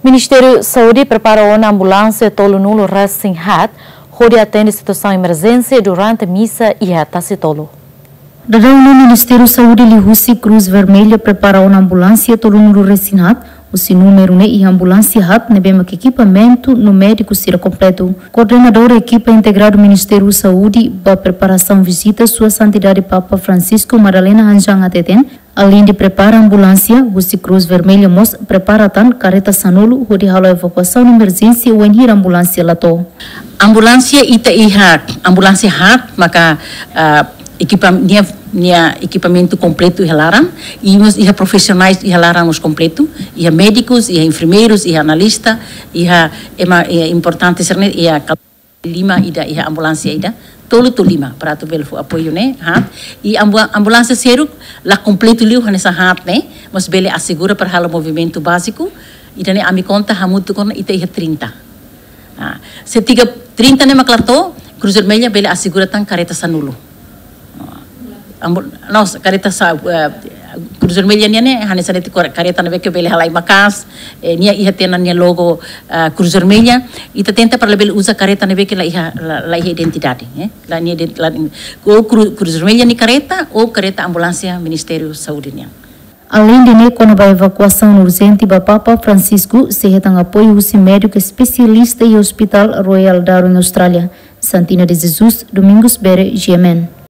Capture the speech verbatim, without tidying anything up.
Ministériu Saúde prepara ona ambulánsia tolunulu resin haat hodi atende situasaun emerjénsia durante misa iha Tasitolu. Daudaun ne'e Ministériu Saúde liuhusi Cruz Vermelha prepara ona ambulánsia tolunulu resin haat, husi númeru ne'e iha ambulánsia haat ne'ebé mak ekipamentu no médiku sira kompletu. Koordenadór ekipa integradu Ministériu Saúde ba preparasaun vizita Sua Santidade Papa Francisco Madalena Hanjan hateten, aleinde prepara ambulánsia, husi Cruz Vermelha mós prepara tan kareta sanulu hodi halo evakuasaun emerjénsia wainhira ambulánsia la to'o. Ambulánsia ita iha, ambulánsia haat maka, ah, ekipa-, nia, nia ekipamentu kompletu iha laran, i mós iha profisionais iha laran mós kompletu, iha médikus, iha enfermeirus, iha analista, iha ema, iha importante sira-ne'e, iha kal-, lima ida iha ambulánsia ida, tolu to'o lima, para atu bele fó apoiu ne'e, haat. I ambu-, ambulánsia seluk la kompletu liu hanesan haat ne'e, mas bele asegura para halo movimentu báziku, ida-ne'e ami konta hamutuk ona ita iha trinta. Ah, se tiga, trinta ne'e mak la to'o, Cruz Vermelha bele asegura tan kareta sanulu. Ah, ambu-, nos, kareta sa-, eh, Cruz Vermelha nian ne'e, hanesan de'it kor-, kareta ne'ebé ke bele halai maka'as, eh, nia iha tiha ona nia logo, ah, Cruz Vermelha, ita tenta para labele uza kareta ne'ebé ke la iha, la, la iha identidade, eh, la nia ident-, la, ou Cru-, Cruz Vermelha nia kareta, ou kareta ambulánsia Ministériu Saúde nian. Aleinde ne'e, kona-ba evakuasaun urjente ba Papa Francisco, sei hetan apoiu husi médiku espesialista iha Hospital Royal Darwin Austrália. Santina de Jesus, Domingos Bere, G M N.